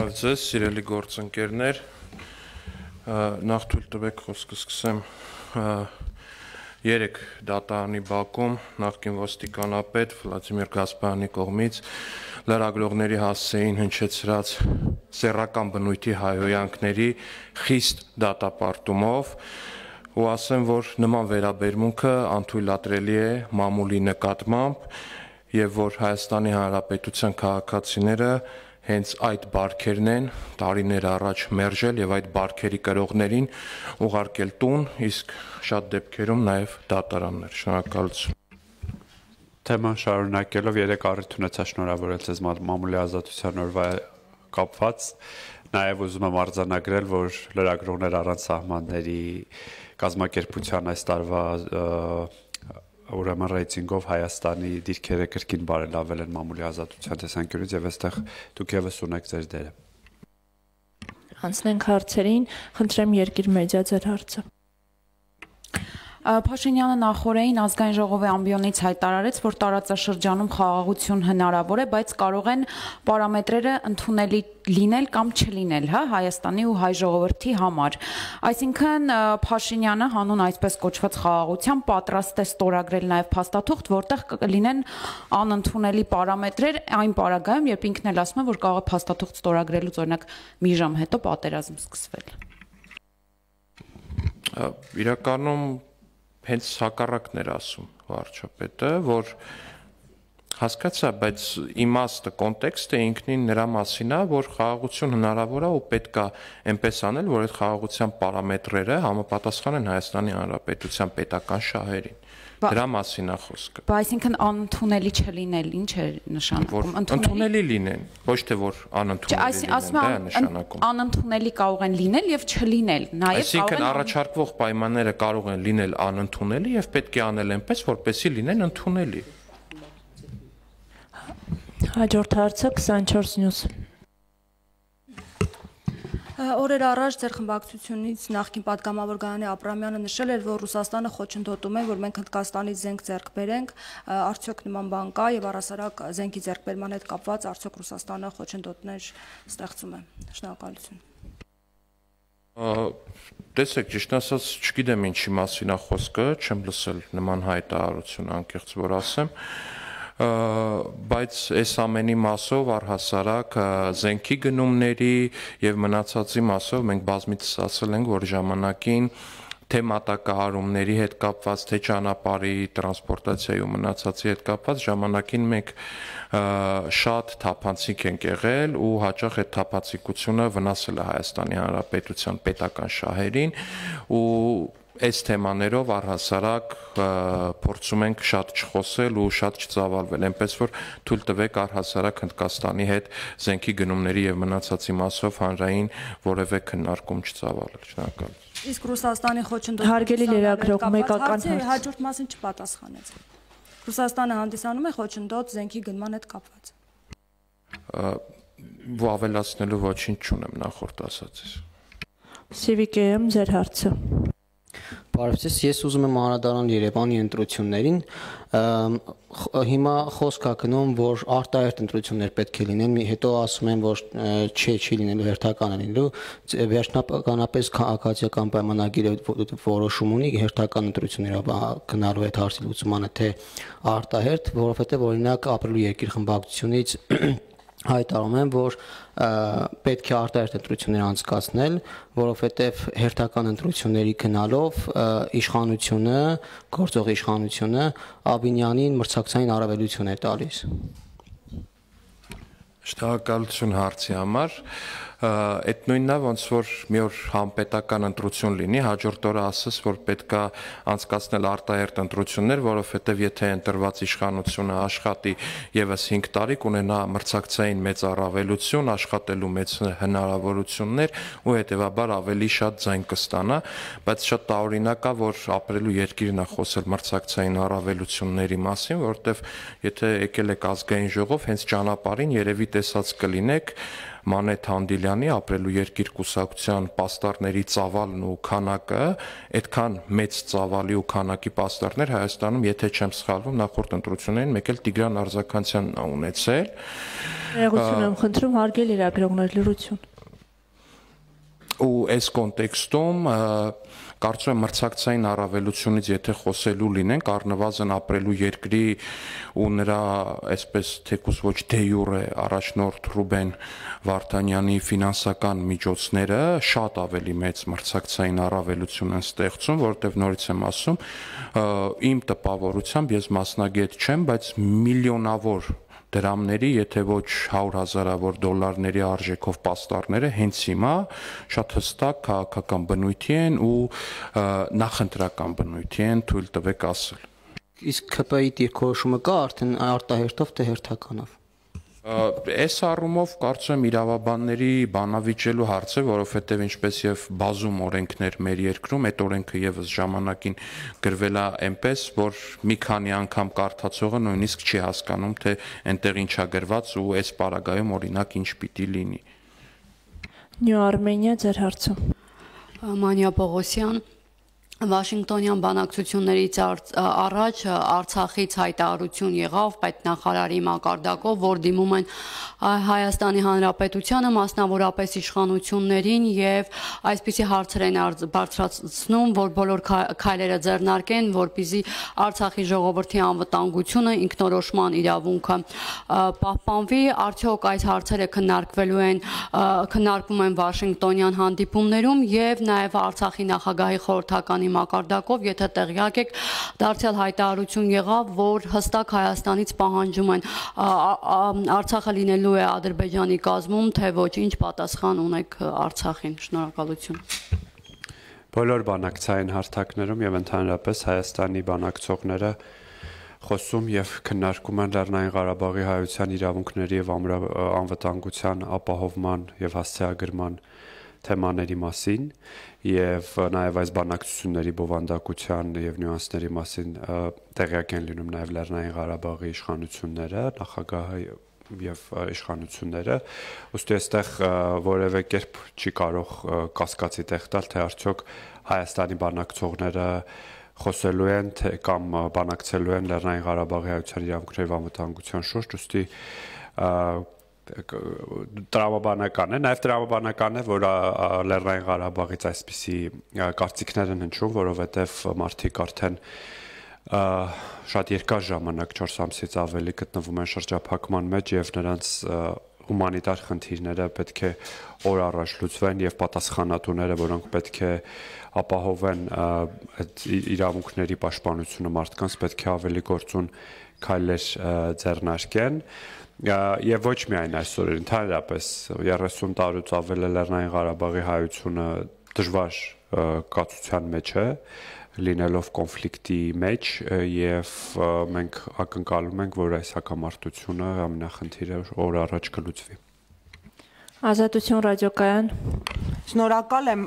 Բարև ձեզ, սիրելի գործընկերներ, նախ թույլ տվեք խոսքը սկսեմ 3 դատարանի բակում նախկին ոստիկանապետ Վլադիմիր Գասպարյանի կողմից լրագրողների հասցեին հնչեցրած սեռական բնույթի հայհոյանքների խիստ դատապարտումով ու ասեմ, որ նման վերաբերմունքը անթույլատրելի է մամուլի նկատմամբ եւ որ Հայաստանի Հանրապետության քաղաքացիները հենց այդ բարքերն են տարիներ առաջ մերժել եւ այդ բարքերի կրողներին ուղարկել տուն, իսկ շատ դեպքերում նաեւ դատարաններ։ Շնորհակալություն։ Թեման շարունակելով 3 առիթ ունեցա շնորհավորել ձեզ մամուլի ազատության օրվա կապված, նաեւ ուզում եմ արձանագրել, որ լրագրողներ առանց սահմանների կազմակերպության այս տարվա ուրեմն ռեյտինգով Հայաստանի դիրքերը կրկին բարելավել են մամուլի ազատության տեսանկյունից եւ այստեղ դուք եւս ունեք ձեր դերը։ Անցնենք հարցերին, խնդրեմ Երկիր մեդիա ձեր հարցը։ Փաշինյանը նախորդին ազգային ժողովի ամբիոնից հայտարարեց, որ տարածաշրջանում խաղաղություն հնարավոր է, բայց կարող են պարամետրերը ընդունելի լինել կամ չլինել, Հայաստանի ու հայ ժողովրդի համար։ Այսինքն Փաշինյանը հանուն այսպես կոչված խաղաղության պատրաստ է ստորագրել նաև փաստաթուղթ, որտեղ կլինեն անընդունելի պարամետրեր այն պարագայում, երբ ինքն էլ ասում է, որ կարող է փաստաթուղթ ստորագրելուց օրինակ մի ժամ հետո պատերազմ սկսվել։ Իրականում հենց հակառակն էր ասում վարչապետը, որ հասկացա, բայց իմաստը, կոնտեքստը ինքնին նրա մասին է, որ խաղաղություն հնարավոր է ու պետք է այնպես անել, որ այդ խաղաղության պարամետրերը համապատասխանեն Հայաստանի Հանրապետության պետական շահերին։ Դրա մասին է խոսքը։ Այսինքն անընդունելի չլինել, ինչ է նշանակում։ Ընդունելի լինեն, ոչ թե որ անընդունելի լինեն, դա է նշանակում։ Անընդունելի կարող են լինել եւ չլինել, նաեւ Այսինքն առաջարկվող պայմանները կարող են լինել անընդունելի եւ պետք է անել այնպես, որպեսզի լինեն ընդունելի։ Հաջորդ հարցը 24 News։ Օրեր առաջ ձեր խմբակցությունից նախկին պատգամավոր Գայանե Աբրամյանը նշել էր, որ Ռուսաստանը խոչընդոտում է, որ մենք Հնդկաստանից զենք ձեռք բերենք, արդյոք նման բան կա եւ առասարակ զենքի ձեռքբերման հետ կապված արդյոք Ռուսաստանը խոչընդոտներ ստեղծում է։ Շնորհակալություն։ Տեսեք, ճիշտ ասած, չգիտեմ ինչի մասին է խոսքը, չեմ լսել նման հայտարարություն, անկեղծ որ ասեմ, բայց այս ամենի մասով առհասարակ զենքի գնումների եւ մնացածի մասով մենք բազմիցս ասել ենք, որ ժամանակին թե մատակարարումների հետ կապված, թե ճանապարհի տրանսպորտացիայի ու մնացածի հետ կապված ժամանակին մենք շատ թափանցիկ ենք եղել ու հաճախ այդ թափանցիկությունը վնասել է Հայաստանի Հանրապետության պետական շահերին ու այս թեմաներով առհասարակ փորձում ենք շատ չխոսել ու շատ չծավալվել, այնպես որ թույլ տվեք առհասարակ Հնդկաստանի հետ զենքի գնումների եւ մնացածի մասով հանրային որևէ քննարկում չծավալել։ Շնորհակալություն։ Իսկ Ռուսաստանի խոչընդոտում Հարգելի լրագրող, մեկական հաջորդ մասին չպատասխանեց։ Ռուսաստանը հանդիսանում է խոչընդոտ զենքի գնման հետ կապված։ Ու ավելացնելու ոչինչ չունեմ նախորդ ասածից։ Civic-ում ձեր հարցը։ Բարև ձեզ, ես ուզում եմ անդրադառնալ Երևանի ընտրություններին, հիմա խոսք է գնում, որ արտահերթ ընտրություններ պետք է լինեն, հետո ասում են, որ չի լինելու, հերթական է լինելու, վերջնականապես քաղաքացիական պայմանագիրը որոշում ունի հերթական ընտրությունները գնալու այդ հարցի լուծմանը, թե արտահերթ, որովհետև օրինակ ապրելու երկիր խմբակցությունից հայտարարում են, որ պետք է արտահերթ ընտրություններ անցկացնել, որովհետև հերթական ընտրությունների գնալով իշխանությունը, գործող իշխանությունը Աբինյանին մրցակցային առավելություն է տալիս։ Շնորհակալություն հարցի համար։ Այդ նույնն է, ոնց որ մի օր համապետական ընտրություն լինի, հաջորդ օրը ասես, որ պետքա անցկացնել արտահերթ ընտրություններ, որովհետև եթե ընտրված իշխանությունը աշխատի եւս 5 տարի, կունենա մրցակցային մեծ առավելություն, աշխատելու մեծ հնարավորություններ ու հետեւաբար ավելի շատ ձայն կստանա, բայց շատ տարօրինակ է, որ ապրելու երկիրն է խոսել մրցակցային առավելությունների մասին, որովհետև եթե եկել եք ազգային ժողով, հենց ճանապարհին երևի տեսած կլինեք Մանեթ Հանդիլյանի ապրելու երկիր կուսակցության պաստառների ծավալն ու քանակը, այդքան մեծ ծավալի ու քանակի պաստառներ Հայաստանում, եթե չեմ սխալվում, նախորդ ընտրություններին մեկ էլ Տիգրան Արձականյանն է ունեցել։ Ներողություն եմ խնդրում, հարգել լրագրողներ, լրություն։ Ու այս կոնտեքստում կարծում եմ մրցակցային առավելությունից եթե խոսելու լինենք, առնվազն ապրելու երկրի ու նրա այսպես թեկուզ ոչ դե յուրե առաջնորդ Ռուբեն Վարդանյանի ֆինանսական միջոցները շատ ավելի մեծ մրցակցային առավելություն են ստեղծում, որովհետև նորից եմ ասում, իմ տպավորությամբ ես մասնագետ չեմ, բայց միլիոնավոր դրամների, եթե ոչ 100,000-ավոր դոլարների արժեքով պաստառները հենց հիմա շատ հստակ քաղաքական բնույթի են ու նախընտրական բնույթի են, թույլ տվեք ասել։ Իսկ ՔՊ-ի դիրքորոշումը կա արդեն արտահերթով թե հերթականով։ Այս առումով կարծում եմ իրավաբանների բանավիճելու հարց է, որովհետև ինչպես եւ բազում օրենքներ մեր երկրում, այդ օրենքը եւս ժամանակին գրվել է այնպես, որ մի քանի անգամ կարդացողը նույնիսկ չի հասկանում, թե այնտեղ ինչ է գրված ու այս պարագայում օրինակ ինչ պիտի լինի։ Նյու Արմենիա, ձեր հարցը։ Մանյա Պողոսյան, Վաշինգտոնյան բանակցություններից առաջ Արցախից հայտարարություն եղավ պետնախարարի մակարդակով, որ դիմում են Հայաստանի Հանրապետությանը, մասնավորապես իշխանություններին եւ այսպիսի հարցեր են բարձրացնում, որ բոլոր քայլերը ձեռնարկեն, որպեսզի Արցախի ժողովրդի անվտանգությունը, ինքնորոշման իրավունքը պահպանվի, արդյոք այս հարցերը քննարկվում են Վաշինգտոնյան հանդիպումներում եւ նաեւ Արցախի նախագահի խորհրդականի մակարդակով, եթե տեղյակ եք, դարձյալ հայտարարություն եղավ, որ հստակ Հայաստանից պահանջում են Արցախը լինելու է Ադրբեջանի կազմում, թե ոչ, ինչ պատասխան ունեք Արցախին։ Շնորհակալություն։ Բոլոր բանակցային հարթակներում եւ ընդհանրապես Հայաստանի բանակցողները խոսում եւ քննարկում են Լեռնային Ղարաբաղի հայության իրավունքների եւ անվտանգության ապահովման եւ հասցեագրման թեմաների մասին եւ նաեւ այս բանակցությունների բովանդակության եւ նյուանսների մասին տեղյակ են լինում նաեւ Լեռնային Ղարաբաղի իշխանությունները, նախագահը եւ իշխանությունները, ուստի այստեղ որևէ կերպ չի կարող կասկածի տեղ տալ, թե արդյոք Հայաստանի բանակցողները խոսելու են կամ բանակցելու են Լեռնային Ղարաբաղի հայության իրավունքների անվտանգության շուրջ, ուստի տրամաբանական է, նաև տրամաբանական է, որ Լեռնային Ղարաբաղից այսպիսի կարծիքներ են հնչում, որովհետև մարդիկ արդեն շատ երկար ժամանակ 4 ամսից ավելի գտնվում են շրջափակման մեջ եւ նրանց հումանիտար խնդիրները պետք է օր առաջ լուծվեն եւ պատասխանատուները, որոնք պետք է ապահովեն այդ իրավունքների պաշտպանությունը մարդկանց, պետք է ավելի գործուն քայլեր ձեռնարկեն։ Եվ ոչ միայն այսօր, ընդհանրապես 30 տարուց ավել է Լեռնային Ղարաբաղի հայությունը դժվար կացության մեջ է, լինելով կոնֆլիկտի մեջ եւ մենք ակնկալում ենք, որ այս հակամարտությունը ամենախնդիրը օր առաջ կլուծվի։ Ազատություն ռադիոկայան։ Շնորհակալ եմ,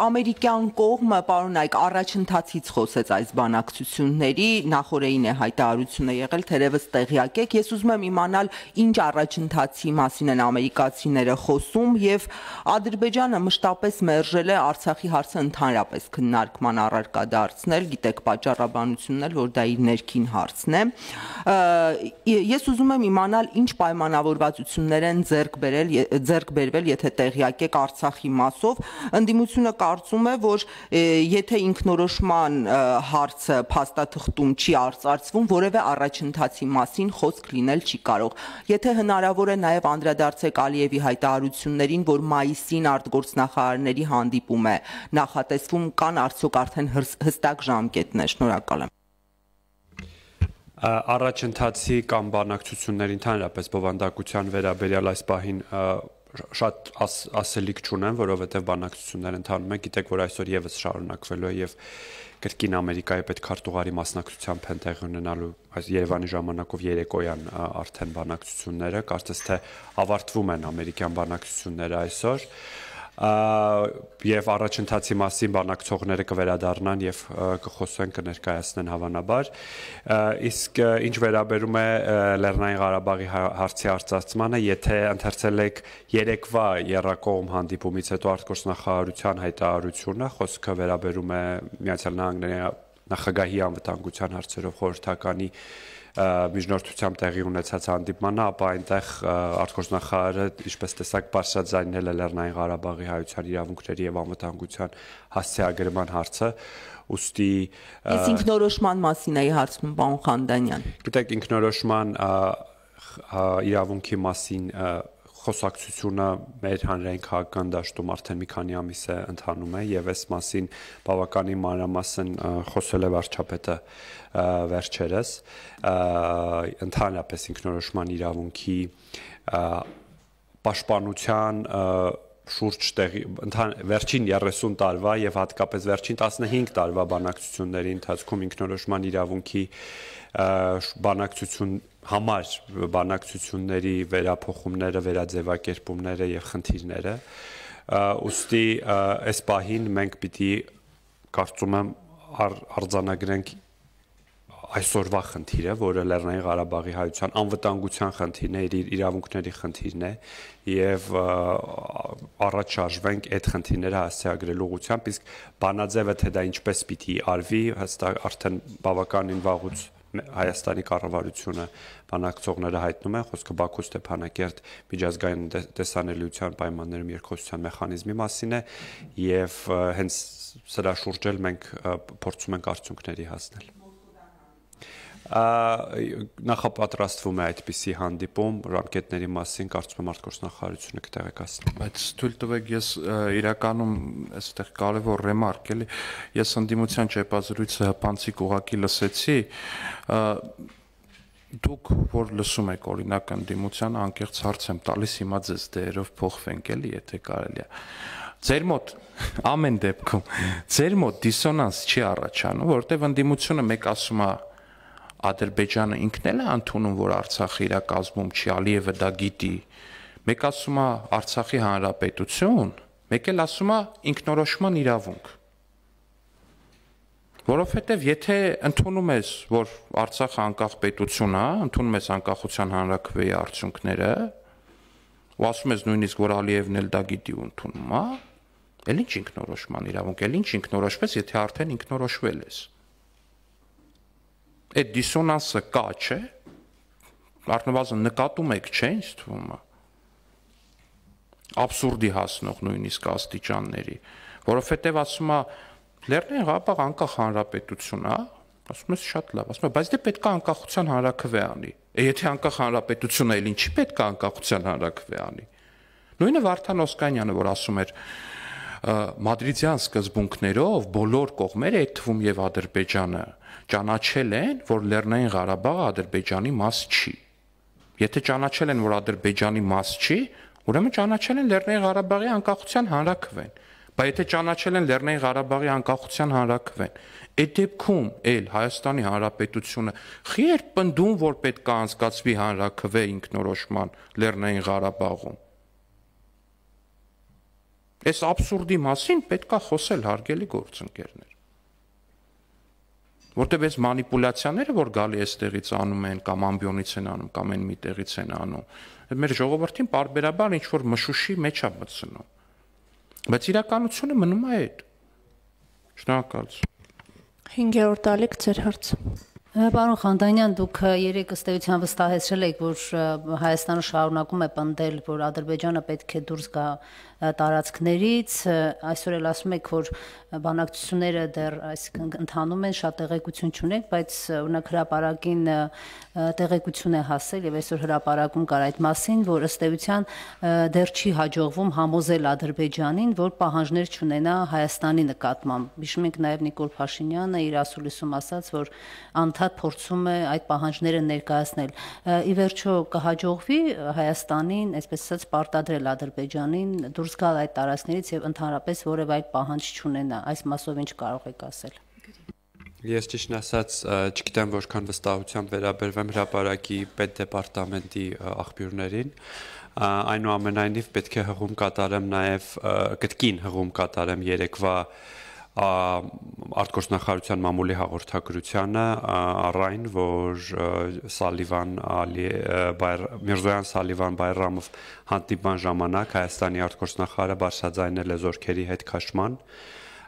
ամերիկյան կողմը պարոնայք առաջընթացից խոսեց այս բանակցությունների, նախորդին է հայտարարությունը եղել, թերևս տեղյակ եք, ես ուզում եմ իմանալ ինչ առաջընթացի մասին են ամերիկացիները խոսում եւ Ադրբեջանը մշտապես մերժել է Արցախի հարցը ընդհանրապես քննարկման առարկա դարձնել, գիտեք պատճառաբանությունն էլ, որ դա իր ներքին հարցն է։ Ես ուզում եմ իմանալ ինչ պայմանավորվածություններ են ձեռք բերվել, եթե տեղյակ եք Արցախի մասով, ընդդիմությունը կարծում է, որ եթե ինքնորոշման հարցը փաստաթղթում չի արծարծվում, որևէ առաջընթացի մասին խոսք լինել չի կարող։ Եթե հնարավոր է նաև անդրադարձեք Ալիևի հայտարարություններին, որ մայիսին արտգործնախարարների հանդիպում է նախատեսվում, կան արդյոք արդեն հստակ ժամկետներ։ Շնորհակալ եմ։ Առաջընթացի կամ բանակցությունների ընդհանրապես բովանդակության վերաբերյալ այս պահին շատ ասելիք չունեմ, որովհետև բանակցություններ ընթանում են, գիտեք, որ այսօր եւս շարունակվելու է եւ կրկին Ամերիկայի պետքարտուղարի մասնակցությամբ են տեղի ունենալու այս Երևանի ժամանակով երեկոյան արդեն բանակցությունները, կարծես թե ավարտվում են ամերիկյան բանակցությունները այսօր։ եւ առաջընթացի մասին բանակցողները կվերադառնան եւ կխոսեն, կներկայացնեն հավանաբար։ Իսկ ինչ վերաբերում է Լեռնային Ղարաբաղի հարցի արծարծմանը, եթե ընթերցել եք երեկվա եռակողմ հանդիպումից հետո արտգործնախարարության հայտարարությունը, խոսքը վերաբերում է Միացյալ Նահանգների նախագահի անվտանգության հարցերով խորհրդականի միջնորդությամբ տեղի ունեցած հանդիպմանը, ապա այնտեղ արտգործնախարարը, ինչպես տեսակ, բարձրաձայնել է Լեռնային Ղարաբաղի հայության իրավունքների եւ անվտանգության հասցեագրման հարցը, ուստի Իսկ ինքնորոշման մասին էի հարցնում, պարոն Խանդանյան։ Գիտեք, ինքնորոշման իրավունքի մասին խոսակցությունը մեր հանրային քաղաքական դաշտում արդեն մի քանի ամիս է ընթանում է եւ այս մասին բավականին մանրամասն խոսել է վարչապետը վերջերս ընդհանրապես ինքնորոշման իրավունքի պաշտպանության շուրջ տեղի վերջին 30 տարվա եւ հատկապես վերջին 15 տարվա բանակցությունների ընթացքում ինքնորոշման իրավունքի բանակցություն համար բանակցությունների վերափոխումները, վերաձևակերպումները եւ խնդիրները ուստի այս պահին մենք պիտի կարծում եմ արձանագրենք այսօրվա խնդիրը, որը Լեռնային Ղարաբաղի հայության անվտանգության խնդիրն է, իր իրավունքների խնդիրն է եւ առաջ շարժվենք այդ խնդիրները հասցեագրելու ուղղությամբ, իսկ բանաձևը թե դա ինչպես պիտի արվի, հստակ արդեն բավականին վաղուց Հայաստանի կառավարությունը բանակցողները հայտնում են, խոսքը Բաքու Ստեփանակերտ միջազգային տեսանելիության պայմաններում երկխոսության մեխանիզմի մասին է եւ հենց սրա շուրջ էլ մենք փորձում ենք արդյունքների հասնել։ Նախապատրաստվում է այդպիսի հանդիպում, ռամկետների մասին կարծում եմ արտգործնախարարությունը կտեղեկացնի։ Բայց թույլ տվեք, ես իրականում այստեղ կարևոր ռեմարկ էլի, ես ընդդիմության ճեպազրույցը հպանցիկ ուղակի լսեցի, դուք որ լսում եք օրինակ ընդդիմության անկեղծ հարց եմ տալիս, հիմա ձեզ դերով փոխվենք էլի, եթե կարելի է։ Ձեր մոտ ամեն դեպքում ձեր մոտ դիսոնանս չի առաջանում, որովհետև ընդդիմությունը մեկ ասում է Ադրբեջանը ինքն էլ է ընդունում, որ Արցախը իր կազմում չի, Ալիևը դա գիտի։ Մեկ ասում է Արցախի հանրապետություն, մեկ էլ ասում է ինքնորոշման իրավունք։ Որովհետև եթե ընդունում ես, որ Արցախը անկախ պետություն է, ընդունում ես անկախության հանրաքվեի արդյունքները, ու ասում ես նույնիսկ, որ Ալիևն էլ դա գիտի ու ընդունում է, էլ ինչ ինքնորոշման իրավունք, էլ ինչ ինքնորոշվես, եթե արդեն ինքնորոշվել ես։ Այդ դիսոնանսը կա, չէ՞։ Առնվազն նկատում եք, չէ՞, ինձ թվում է։ Աբսուրդի հասնող նույնիսկ աստիճանների, որովհետև ասում է Լեռնային Ղարաբաղ անկախ հանրապետություն է, ասում ես շատ լավ, ասում է, բայց դե պետք է անկախության հանրաքվե անի։ Եթե անկախ հանրապետություն է, ինչի պետք է անկախության հանրաքվե անի։ Նույնը Վարդան Օսկանյանը, որ ասում էր Մադրիդյան սկզբունքներով բոլոր կողմերը, այդ թվում եւ Ադրբեջանը, ճանաչել են, որ Լեռնային Ղարաբաղը Ադրբեջանի մաս չի։ Եթե ճանաչել են, որ Ադրբեջանի մաս չի, ուրեմն ճանաչել են Լեռնային Ղարաբաղի անկախության հանրաքվեն։ Բայց եթե ճանաչել են Լեռնային Ղարաբաղի անկախության հանրաքվեն, այդ դեպքում էլ Հայաստանի Հանրապետությունը խի էր պնդում, որ պետք է անցկացվի հանրաքվե ինքնորոշման Լեռնային Ղարաբաղում։ Այս աբսուրդի մասին պետք է խոսել, հարգելի գործընկերներ։ Որտեւ այս մանիպուլյացիաները, որ գալի այստեղից անում են, կամ ամբիոնից են անում, կամ այն մի տեղից են անում, մեր ժողովրդին պարբերաբար ինչ որ մշուշի մեջ է մտցնում։ Բայց իրականությունը մնում է այդ։ Շնորհակալություն։ 5-րդ ալիք ձեր հարցը։ Պարոն Խանդանյան, դուք երեք ըստ էության վստահեցրել եք, որ Հայաստանը շարունակում է պնդել, որ Ադրբեջանը պետք է դուրս գա տարածքներից, այսօր էլ ասում եք, որ բանակցությունները դեռ այսինքն ընթանում են, շատ տեղեկություն չունենք, բայց օրինակ հրապարակին տեղեկություն է հասել եւ այսօր հրապարակում կար այդ մասին, որ ըստ էության դեռ չի հաջողվում համոզել Ադրբեջանին, որ պահանջներ չունենա Հայաստանի նկատմամբ։ Հիշում ենք նաեւ Նիկոլ Փաշինյանը իր ասուլիսում ասաց, որ անդադ փորձում է այդ պահանջները ներկայացնել։ Ի վերջո կհաջողվի Հայաստանին, այսպես ասած, պարտադրել Ադրբեջանին դուրս գալ այդ տարածքներից եւ ընդհանրապես որևէ այդ պահանջ չունենա։ Այս մասով ինչ կարող եք ասել։ Ես ճիշտն ասած չգիտեմ որքան վստահությամբ վերաբերվեմ հրապարակի պետդեպարտամենտի աղբյուրներին, Այնուամենայնիվ պետք է հղում կատարեմ նաև կտկին հղում կատարեմ երեկվա արտգործնախարարության մամուլի հաղորդագրությանը առայն, որ Միրզոյան Սալիվան Բայրամով հանդիպման ժամանակ Հայաստանի արտգործնախարարը բարձրաձայնել է զորքերի հետ քաշման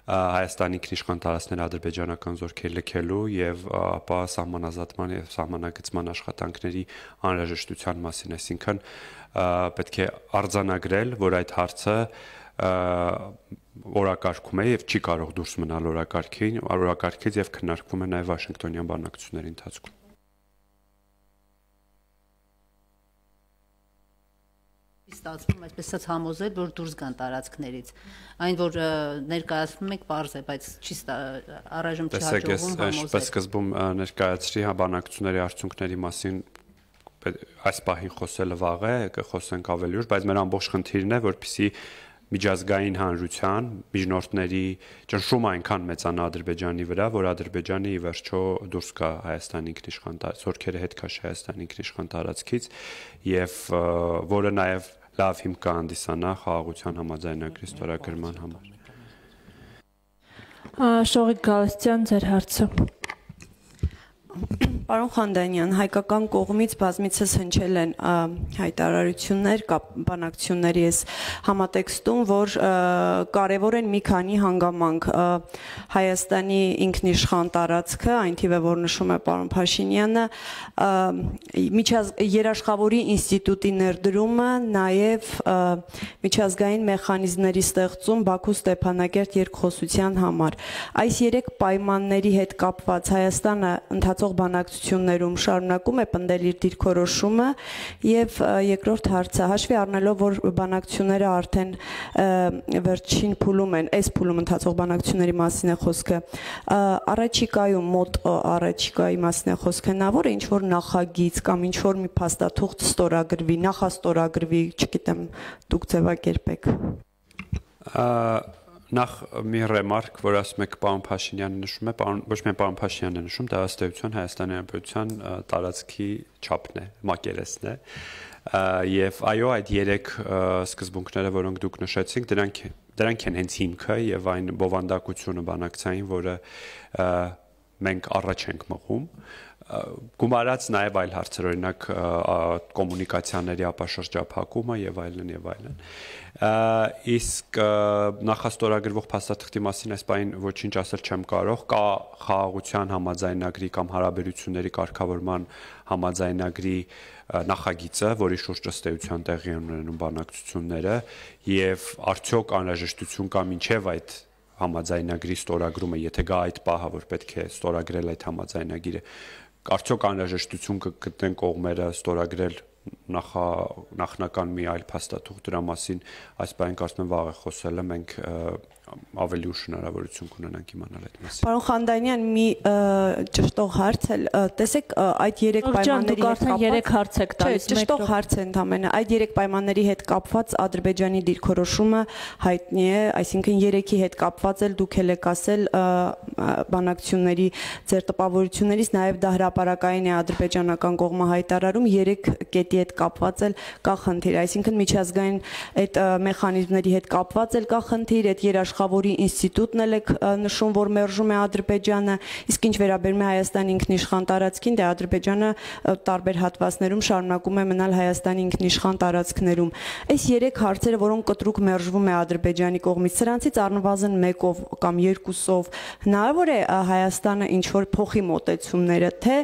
Հայաստանի ինքնիշխան տարածքներ ադրբեջանական զորքեր լքելու եւ ապա սահմանազատման եւ սահմանագծման աշխատանքների անհրաժեշտության մասին, այսինքն պետք է արձանագրել, որ այդ հարցը օրակարգում է եւ չի կարող դուրս մնալ օրակարգից եւ քննարկվում է նաեւ Վաշինգտոնյան բանակցությունների ընթացքում։ Ստացվում այսպես ասած համոզել, որ դուրս գան տարածքներից։ Այն որ ներկայացնում եք պարզ է, բայց չի առայժմ չի հաջողվում համոզել։ Այսպես սկզբում ներկայացրի բանակցությունների արդյունքների մասին այս պահին խոսելը վաղ է, կխոսենք ավելի ուշ, բայց մեր ամբողջ խնդիրն է, որպեսզի միջազգային հանրության միջնորդների ճնշումը այնքան մեծանա Ադրբեջանի վրա, որ Ադրբեջանը ի վերջո դուրս գա Հայաստանի ինքնիշխան զորքերը հետ քաշի Հայաստանի ինքնիշխան տարածքից եւ որը նաեւ լավ հիմք կհանդիսանա խաղաղության համաձայնագրի ստորագրման համար։ Շողիկ Գալստյան, ձեր հարցը։ Պարոն Խանդանյան, հայկական կողմից բազմիցս հնչել են հայտարարություններ բանակցությունների այս համատեքստում, որ կարևոր են մի քանի հանգամանք Հայաստանի ինքնիշխան տարածքը, այն թիվը, որ նշում է պարոն Փաշինյանը, երաշխավորի ինստիտուտի ներդրումը, նաև միջազգային մեխանիզմների ստեղծում Բաքու Ստեփանակերտ երկխոսության համար։ Այս երեք պայմանների հետ կապված Հայաստանը ընթացող բանակցություններում շարունակում է պնդել իր դիրքորոշումը եւ երկրորդ հարցը հաշվի առնելով որ բանակցությունները արդեն վերջին փուլում են, այս փուլում ընթացող բանակցությունների մասին է խոսքը, առաջիկայում մոտ առաջիկայի մասին է խոսքը, հնարավոր է ինչ որ նախագիծ կամ ինչ որ մի փաստաթուղթ ստորագրվի, նախաստորագրվի, չգիտեմ, դուք ձևակերպեք։ Նախ մի ռեմարկ, որ ասում եք պարոն Փաշինյանը նշում է, ոչ միայն պարոն Փաշինյանն է նշում, դա ըստ էության Հայաստանի Հանրապետության տարածքի չափն է, մակերեսն է, եւ այո, այդ երեք սկզբունքները, որոնք դուք նշեցիք, դրանք են հենց հիմքը եւ այն բովանդակությունը բանակցային, որը մենք առաջ ենք մղում, գումարած նաև այլ հարցեր, օրինակ կոմունիկացիաների ապաշրջափակումը եւ այլն եւ այլն։ Իսկ նախաստորագրվող փաստաթղթի մասին այս բանին ոչինչ ասել չեմ կարող, կա խաղաղության համաձայնագրի կամ հարաբերությունների կարգավորման համաձայնագրի նախագիծը, որի շուրջ ըստ էության տեղի են ունենում բանակցությունները եւ արդյոք անհրաժեշտություն կա մինչեւ այդ համաձայնագրի ստորագրումը, եթե գա այդ պահը, որ պետք է ստորագրել այդ համաձայնագիրը, արդյոք անհրաժեշտություն կգտնեն կողմերը ստորագրել նախնական մի այլ փաստաթուղթ դրա մասին, այս բանը կարծում եմ վաղ է խոսելը, մենք ավելի ուշ հնարավորություն կունենանք իմանալ այդ մասին։ Պարոն Խանդանյան, մի ճշտող հարց էլ, տեսեք, այդ երեք պայմանների հետ կապված, երեք հարց եք տալիս, ճշտող հարց է ընդամենը, այդ երեք պայմանների հետ կապված Ադրբեջանի դիրքորոշումը հայտնի է, այսինքն երեքի հետ կապված էլ դուք եք ասել բանակցությունների ձեր տպավորություններից, նաև դա հրապարակային է ադրբեջանական կողմը հայտարարում, երեք կետի հետ կապված էլ կա խնդիր, այսինքն միջազգային այդ մեխանիզմների հետ կապված էլ կա խնդիր, այդ երաշխավորի ինստիտուտն էլ է նշում, որ մերժում է Ադրբեջանը, իսկ ինչ վերաբերում է Հայաստանի ինքնիշխան տարածքին, դե Ադրբեջանը տարբեր հատվածներում շարունակում է մնալ Հայաստանի ինքնիշխան տարածքներում։ Այս երեք հարցերը, որոնք կտրուկ մերժվում է Ադրբեջանի կողմից, սրանցից առնվազն մեկով կամ երկուսով հնարավոր է Հայաստանը ինչ որ փոխի մոտեցումները, թե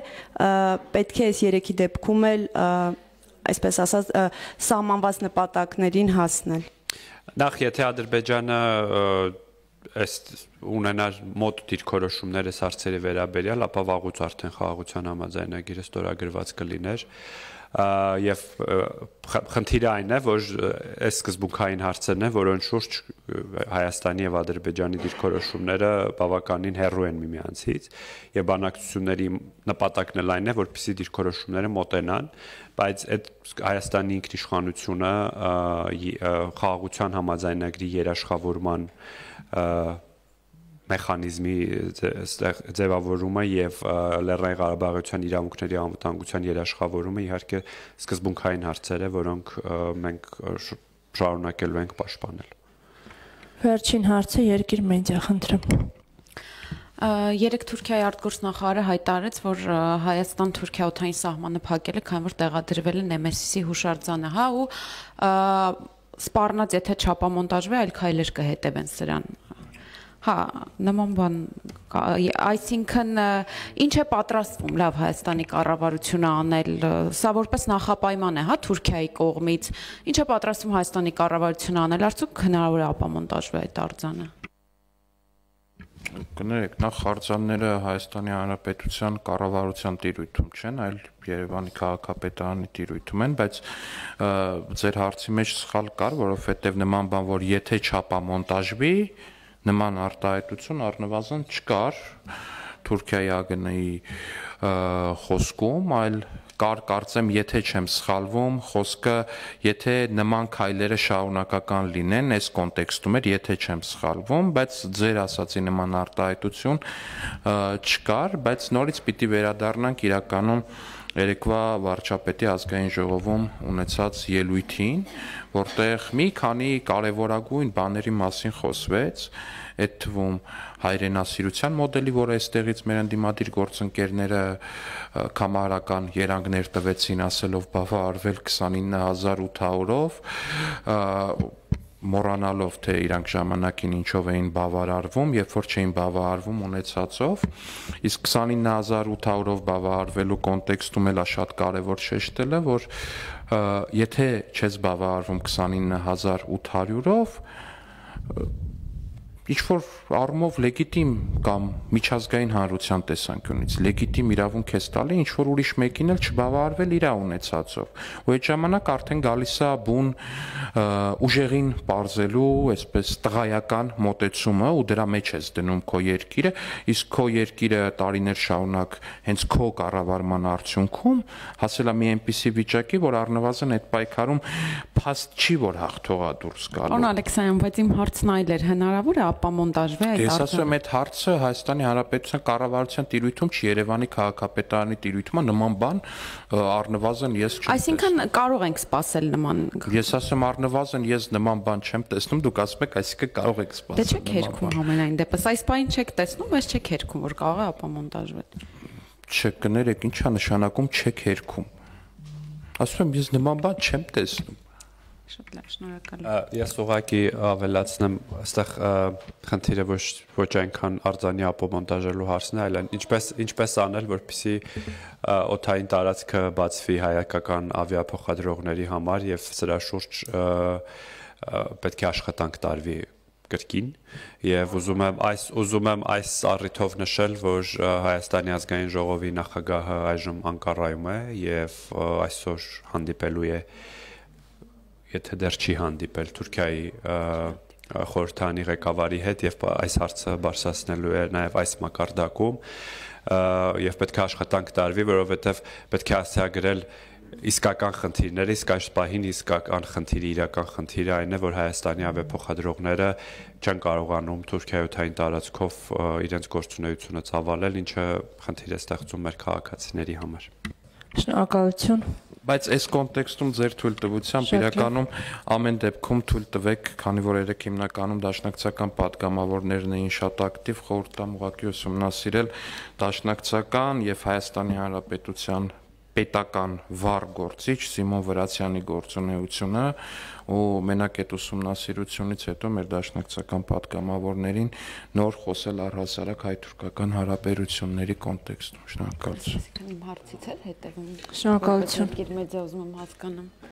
պետք է այս երեքի դեպքում էլ այսպես ասած սահմանված նպատակներին հասնել։ Նախ եթե Ադրբեջանը ունենար մոտ դիրքորոշումներ այս հարցերի վերաբերյալ, ապա վաղուց արդեն խաղաղության համաձայնագիրը ստորագրված կլիներ եւ խնդիրը այն է, որ այս սկզբունքային հարցերն են, որոնց շուրջ Հայաստանի եւ Ադրբեջանի դիրքորոշումները բավականին հեռու են միմյանցից եւ բանակցությունների նպատակն էլ այն է, որպեսզի դիրքորոշումները մոտենան, բայց այդ Հայաստանի ինքնիշխանությունը խաղաղության համաձայնագրի երաշխավորման մեխանիզմի ձևավորումը եւ Լեռնային Ղարաբաղության իրավունքների անվտանգության երաշխավորումը իհարկե սկզբունքային հարցեր է, որոնք մենք շարունակելու ենք պաշտպանել։ Վերջին հարցը Երկիր մեդիա, խնդրեմ։ Երեք Թուրքիայի արտգործնախարարը հայտարարեց, որ Հայաստան-Թուրքիա օդային սահմանը փակել է, քանի որ տեղադրվել է Նեմեսիսի հուշարձանը, հա, ու սպառնաց, եթե չափամոնտաժվի, այլ քայլեր կհետևեն սրան։ Հա, նման բան, այսինքն ինչ է պատրաստվում լավ Հայաստանի կառավարությունը անել, սա որպես նախապայման է, հա, Թուրքիայի կողմից, ինչ է պատրաստվում Հայաստանի կառավարությունը անել, արդյոք հնարավոր է ապամոնտաժվի այդ արձանը։ Կներեք, նախ արձանները Հայաստանի Հանրապետության կառավարության տիրույթում չեն, այլ Երևանի քաղաքապետարանի տիրույթում են, բայց ձեր հարցի մեջ սխալ կար, որովհետև նման բան, որ եթե չափամոնտաժվի, նման արտահայտություն առնվազն չկար Թուրքիայի ԱԳՆ-ի խոսքում, այլ կար կարծեմ, եթե չեմ սխալվում, խոսքը, եթե նման քայլերը շարունակական լինեն, այս կոնտեքստում էր, եթե չեմ սխալվում, բայց ձեր ասացի նման արտահայտություն չկար, բայց նորից պիտի վերադառնանք իրականում երեկվա վարչապետի ազգային ժողովում ունեցած ելույթին, որտեղ մի քանի կարևորագույն բաների մասին խոսվեց, այդ թվում հայրենասիրության մոդելի, որը այստեղից մեր ընդդիմադիր գործընկերները կամարական երանգներ տվեցին, ասելով բավարարվել 29800-ով, մոռանալով թե իրանք ժամանակին ինչով էին բավարարվում, երբ որ չէին բավարարվում ունեցածով, իսկ 29800-ով բավարարվելու կոնտեքստում էլ է շատ կարևոր շեշտելը, որ եթե չես բավարարվում 29800-ով, ինչ-որ առումով լեգիտիմ կամ միջազգային հանրության տեսանկյունից լեգիտիմ իրավունք է տալի ինչ-որ ուրիշ մեկին էլ չբավարարվել իր ունեցածով։ Ու այդ ժամանակ արդեն գալիս է բուն ուժեղին պարզելու, այսպես տղայական մոտեցումը ու դրա մեջ ես դնում քո երկիրը, իսկ քո երկիրը տարիներ շարունակ հենց քո կառավարման արդյունքում հասել է մի այնպիսի վիճակի, որ առնվազն այդ պայքարում փաստ չի, որ հաղթողա դուրս գալու։ Պարոն Ալեքսանյան, բայց իմ հարցն այլ էր, հնարավոր է ապամոնտաժվի այդ Ես ասում եմ, այդ հարցը Հայաստանի Հանրապետության կառավարության տիրույթում չի, Երևանի քաղաքապետարանի տիրույթում է, նման բան առնվազն ես չեմ տեսնում։ Այսինքն կարող ենք սպասել նման։ Ես ասում առնվազն ես նման բան չեմ տեսնում, դուք ասում եք, այսինքն կարող եք սպասել։ Դե չեք հերքում ամենայն դեպս, այս բանին չեք տեսնում, բայց չեք հերքում, որ կարող է ապամոնտաժվել։ Չկներեք, ինչա նշանակում չեք հերքում։ Ասում եմ, ես նման բան չեմ տեսնում։ Շատ լավ, շնորհակալ։ Ես ուղղակի ավելացնեմ, այստեղ խնդիրը ոչ այնքան արձանի ապամոնտաժելու հարցն է, այլ ինչպես անել, որպեսզի օդային տարածքը բացվի հայկական ավիափոխադրողների համար եւ սրա շուրջ պետք է աշխատանք տարվի կրկին եւ ուզում եմ այս առիթով նշել, որ Հայաստանի ազգային ժողովի նախագահը այժմ Անկարայում է եւ այսօր հանդիպելու է, եթե դեռ չի հանդիպել Թուրքիայի խորհրդանի ղեկավարի հետ եւ այս հարցը բարձրացնելու է նաեւ այս մակարդակում եւ պետք է աշխատանք տարվի, որովհետեւ պետք է հասցեագրել իսկական խնդիրները, իսկ այս պահին իսկական խնդիրը, իրական խնդիրը այն է, որ Հայաստանի ավիափոխադրողները չեն կարողանում Թուրքիայի օդային տարածքով իրենց գործունեությունը ծավալել, ինչը խնդիր է ստեղծում մեր քաղաքացիների համար։ Շնորհակալություն։ Բայց այս կոնտեքստում ձեր թույլտվությամբ իրականում ամեն դեպքում թույլ տվեք, քանի որ երեք հիմնականում դաշնակցական պատգամավորներն էին շատ ակտիվ, խորհուրդ տամ ուղղակի ուսումնասիրել դաշնակցական եւ Հայաստանի Հանրապետության պետական վառ գործիչ Սիմոն Վրացյանի գործունեությունը ու մենակ այդ ուսումնասիրությունից հետո մեր դաշնակցական պատգամավորներին նոր խոսել առհասարակ հայ-թուրքական հարաբերությունների կոնտեքստում։ Շնորհակալություն։ Իմ հարցից էլ հետևում։ Շնորհակալություն։ Երկիր մեդիա ուզում եմ հասկանամ։